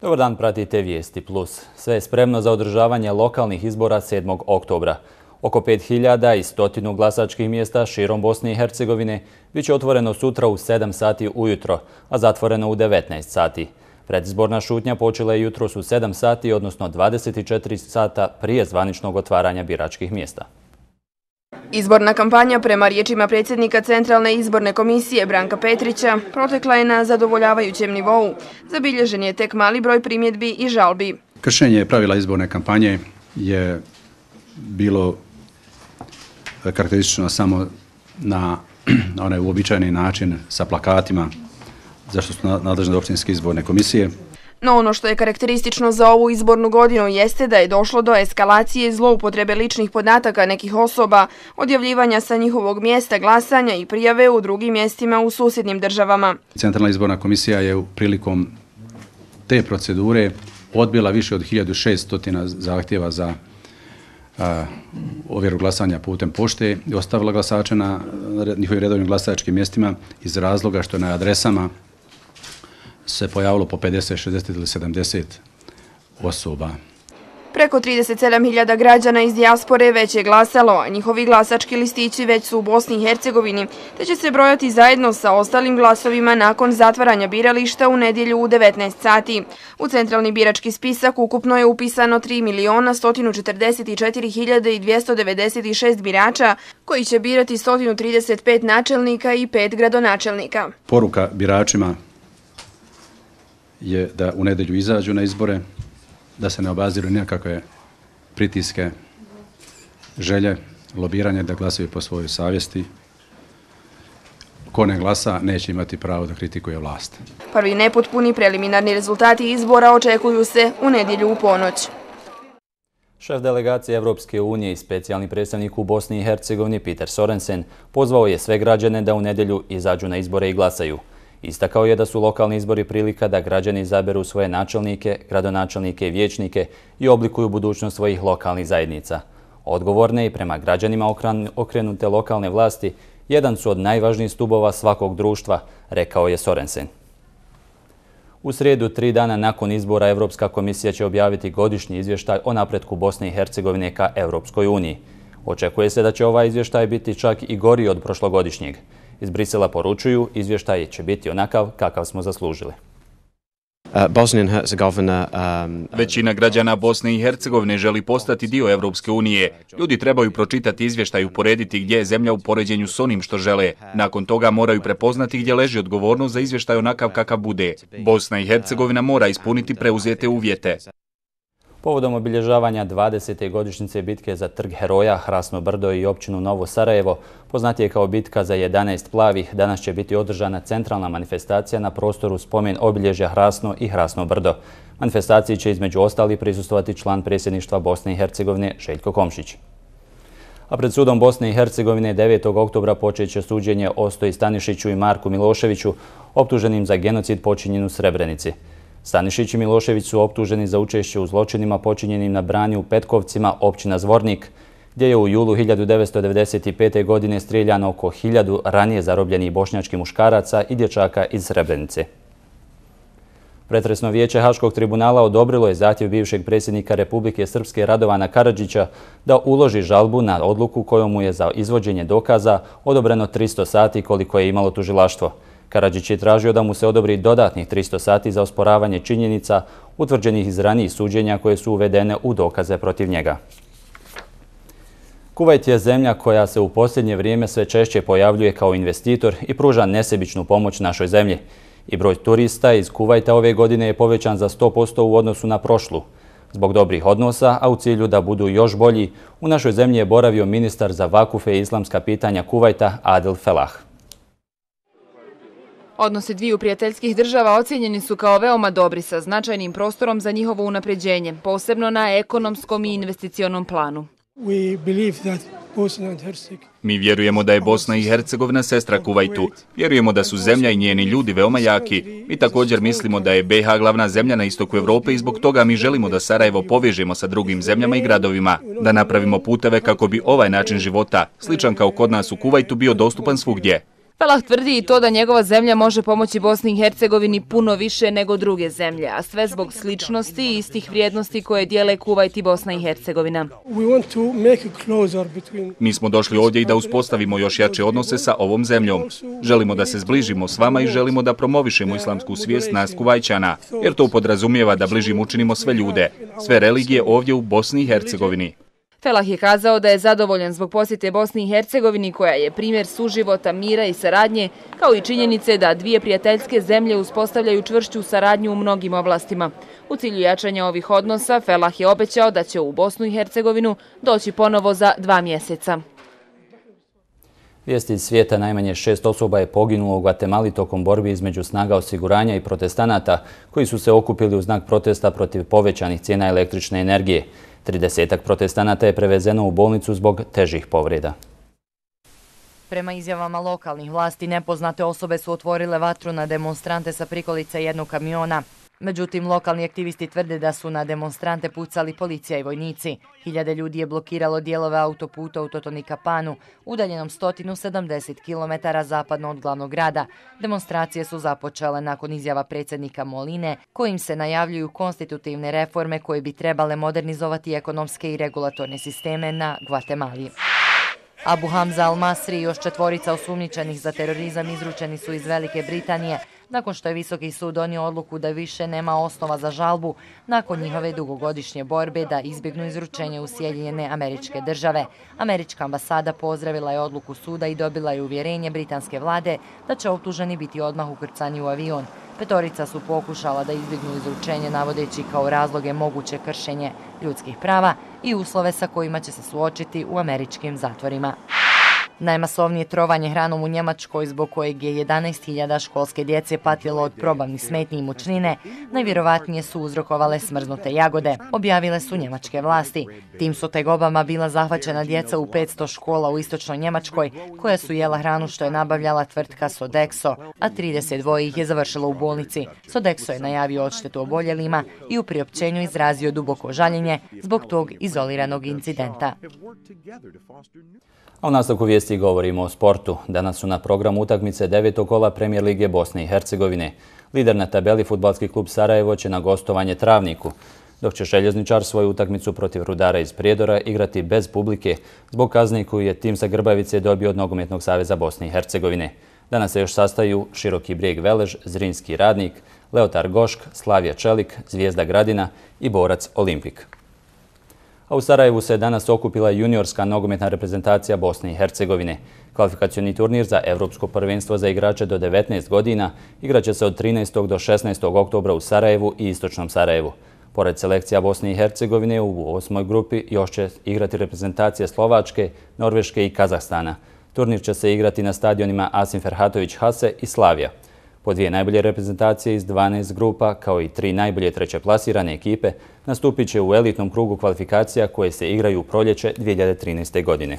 Dobar dan, pratite Vijesti Plus. Sve je spremno za održavanje lokalnih izbora 7. oktobra. Oko 5100 glasačkih mjesta širom Bosne i Hercegovine bit će otvoreno sutra u 7 sati ujutro, a zatvoreno u 19 sati. Predizborna šutnja počela je jutros u 7 sati, odnosno 24 sata prije zvaničnog otvaranja biračkih mjesta. Izborna kampanja, prema riječima predsjednika Centralne izborne komisije Branka Petrića, protekla je na zadovoljavajućem nivou. Zabilježen je tek mali broj primjedbi i žalbi. Kršenje pravila izborne kampanje je bilo karakteristično samo na onaj uobičajeni način sa plakatima, zašto su nadležne općinske izborne komisije. No ono što je karakteristično za ovu izbornu godinu jeste da je došlo do eskalacije i zloupotrebe ličnih podataka nekih osoba, odjavljivanja sa njihovog mjesta glasanja i prijave u drugim mjestima u susjednim državama. Centralna izborna komisija je prilikom te procedure odbila više od 1600 zahtjeva za ovjeru glasanja putem pošte i ostavila glasače na njihovim redovnim glasačkim mjestima iz razloga što na adresama se pojavilo po 50, 60 ili 70 osoba. Preko 37.000 građana iz dijaspore već je glasalo, a njihovi glasački listići već su u Bosni i Hercegovini, te će se brojati zajedno sa ostalim glasovima nakon zatvaranja birališta u nedjelju u 19 sati. U centralni birački spisak ukupno je upisano 3.144.296 birača, koji će birati 135 načelnika i 5 gradonačelnika. Poruka biračima je da u nedjelju izađu na izbore, da se ne obaziru nikakve pritiske, želje, lobiranje, da glasaju po svojoj savjesti. Ko ne glasa, neće imati pravo da kritikuje vlast. Prvi nepotpuni preliminarni rezultati izbora očekuju se u nedjelju u ponoć. Šef delegacije Evropske unije i specijalni predstavnik u Bosni i Hercegovini Peter Sorensen pozvao je sve građane da u nedjelju izađu na izbore i glasaju. Istakao je da su lokalni izbori prilika da građani izaberu svoje načelnike, gradonačelnike i vijećnike i oblikuju budućnost svojih lokalnih zajednica. Odgovorne i prema građanima okrenute lokalne vlasti jedan su od najvažnijih stubova svakog društva, rekao je Sorensen. U srijedu, 3 dana nakon izbora, Evropska komisija će objaviti godišnji izvještaj o napretku Bosne i Hercegovine ka Evropskoj uniji. Očekuje se da će ovaj izvještaj biti čak i gori od prošlogodišnjeg. Iz Brisela poručuju, izvještaj će biti onakav kakav smo zaslužili. Većina građana Bosne i Hercegovine želi postati dio Evropske unije. Ljudi trebaju pročitati izvještaj i uporediti gdje je zemlja u poređenju s onim što žele. Nakon toga moraju prepoznati gdje leži odgovornost za izvještaj onakav kakav bude. Bosna i Hercegovina mora ispuniti preuzete uvjete. Povodom obilježavanja 20. godišnjice bitke za Trg heroja, Hrasno brdo i općinu Novo Sarajevo, poznatije kao bitka za 11 plavih, danas će biti održana centralna manifestacija na prostoru spomen obilježja Hrasno i Hrasno brdo. Manifestaciji će između ostalih prisustvovati član predsjedništva Bosne i Hercegovine Željko Komšić. A pred sudom Bosne i Hercegovine 9. oktobra počet će suđenje Ostoji Stanišiću i Marku Miloševiću, optuženim za genocid počinjen u Srebrenici. Stanišić i Milošević su optuženi za učešće u zločinima počinjenim na Brani u Petkovcima, općina Zvornik, gdje je u julu 1995. godine strijeljano oko 1000 ranije zarobljenih bošnjačkih muškaraca i dječaka iz Srebrenice. Pretresno vijeće Haškog tribunala odobrilo je zahtjev bivšeg predsjednika Republike Srpske Radovana Karadžića da uloži žalbu na odluku kojom mu je za izvođenje dokaza odobreno 300 sati koliko je imalo tužilaštvo. Karadžić je tražio da mu se odobri dodatnih 300 sati za osporavanje činjenica utvrđenih iz ranijih suđenja koje su uvedene u dokaze protiv njega. Kuvajt je zemlja koja se u posljednje vrijeme sve češće pojavljuje kao investitor i pruža nesebičnu pomoć našoj zemlji. I broj turista iz Kuvajta ove godine je povećan za 100% u odnosu na prošlu. Zbog dobrih odnosa, a u cilju da budu još bolji, u našoj zemlji je boravio ministar za vakufe i islamska pitanja Kuvajta Adel Felah. Odnosi dviju prijateljskih država ocjenjeni su kao veoma dobri sa značajnim prostorom za njihovo unapređenje, posebno na ekonomskom i investicionom planu. Mi vjerujemo da je Bosna i Hercegovina sestra Kuvajtu. Vjerujemo da su zemlja i njeni ljudi veoma jaki. Mi također mislimo da je BiH glavna zemlja na istoku Evrope i zbog toga mi želimo da Sarajevo povežemo sa drugim zemljama i gradovima, da napravimo puteve kako bi ovaj način života, sličan kao kod nas u Kuvajtu, bio dostupan svugdje. Felah tvrdi i to da njegova zemlja može pomoći Bosni i Hercegovini puno više nego druge zemlje, a sve zbog sličnosti i istih vrijednosti koje dijele Kuvajt i Bosna i Hercegovina. Mi smo došli ovdje i da uspostavimo još jače odnose sa ovom zemljom. Želimo da se zbližimo s vama i želimo da promovišemo islamsku svijest nas Kuvajćana, jer to podrazumijeva da bližim učinimo sve ljude, sve religije ovdje u Bosni i Hercegovini. Felah je kazao da je zadovoljan zbog posjete Bosni i Hercegovini, koja je primjer suživota, mira i saradnje, kao i činjenice da dvije prijateljske zemlje uspostavljaju čvršću saradnju u mnogim oblastima. U cilju jačanja ovih odnosa, Felah je obećao da će u Bosnu i Hercegovinu doći ponovo za 2 mjeseca. Vijesti iz svijeta: najmanje 6 osoba je poginulo u Gvatemali tokom borbi između snaga osiguranja i protestanata koji su se okupili u znak protesta protiv povećanih cijena električne energije. 30-ak protestanata je prevezeno u bolnicu zbog težih povreda. Prema izjavama lokalnih vlasti, nepoznate osobe su otvorile vatru na demonstrante sa prikolica jednog kamiona. Međutim, lokalni aktivisti tvrde da su na demonstrante pucali policija i vojnici. Hiljade ljudi je blokiralo dijelove autoputa u Totonicapanu, udaljenom 170 km zapadno od glavnog grada. Demonstracije su započele nakon izjava predsjednika Moline, kojim se najavljuju konstitutivne reforme koje bi trebale modernizovati ekonomske i regulatorne sisteme na Gvatemali. Abu Hamza al-Masri i još 4 osumnjičenih za terorizam izručeni su iz Velike Britanije, nakon što je Visoki sud donio odluku da više nema osnova za žalbu nakon njihove dugogodišnje borbe da izbjegnu izručenje u Sjedinjene Američke Države. Američka ambasada pozdravila je odluku suda i dobila je uvjerenje britanske vlade da će optuženi biti odmah ukrcani u avion. 5 su pokušala da izbjegnu izručenje navodeći kao razloge moguće kršenje ljudskih prava i uslove sa kojima će se suočiti u američkim zatvorima. Najmasovnije trovanje hranom u Njemačkoj, zbog kojeg je 11.000 školske djece patilo od probavnih smetnji i mučnine, najvjerovatnije su uzrokovale smrznute jagode, objavile su njemačke vlasti. Tim su tegobama bila zahvaćena djeca u 500 škola u istočnoj Njemačkoj, koja su jela hranu što je nabavljala tvrtka Sodexo, a 32 ih je završilo u bolnici. Sodexo je najavio odštetu oboljelima i u priopćenju izrazio duboko žaljenje zbog tog izoliranog incidenta. A u nastavku vijesti govorimo o sportu. Danas su na programu utakmice 9. kola Premijer lige Bosne i Hercegovine. Lider na tabeli Fudbalski klub Sarajevo će na gostovanje Travniku, dok će Željezničar svoju utakmicu protiv Rudara iz Prijedora igrati bez publike zbog kazne koju je tim sa Grbavice dobio od Nogometnog saveza Bosne i Hercegovine. Danas se još sastaju Široki Brijeg Velež, Zrinski Radnik, Leotar Gošk, Slavija Čelik, Zvijezda Gradina i Borac Olimpik. A u Sarajevu se danas okupila juniorska nogometna reprezentacija Bosne i Hercegovine. Kvalifikacioni turnir za Evropsko prvenstvo za igrače do 19 godina igraće se od 13. do 16. oktobra u Sarajevu i Istočnom Sarajevu. Pored selekcija Bosne i Hercegovine, u 8. grupi još će igrati reprezentacije Slovačke, Norveške i Kazahstana. Turnir će se igrati na stadionima Asim Ferhatović Hase i Slavija. Po 2 najbolje reprezentacije iz 12 grupa, kao i 3 najbolje trećeplasirane ekipe, nastupit će u elitnom krugu kvalifikacija koje se igraju u proljeće 2013. godine.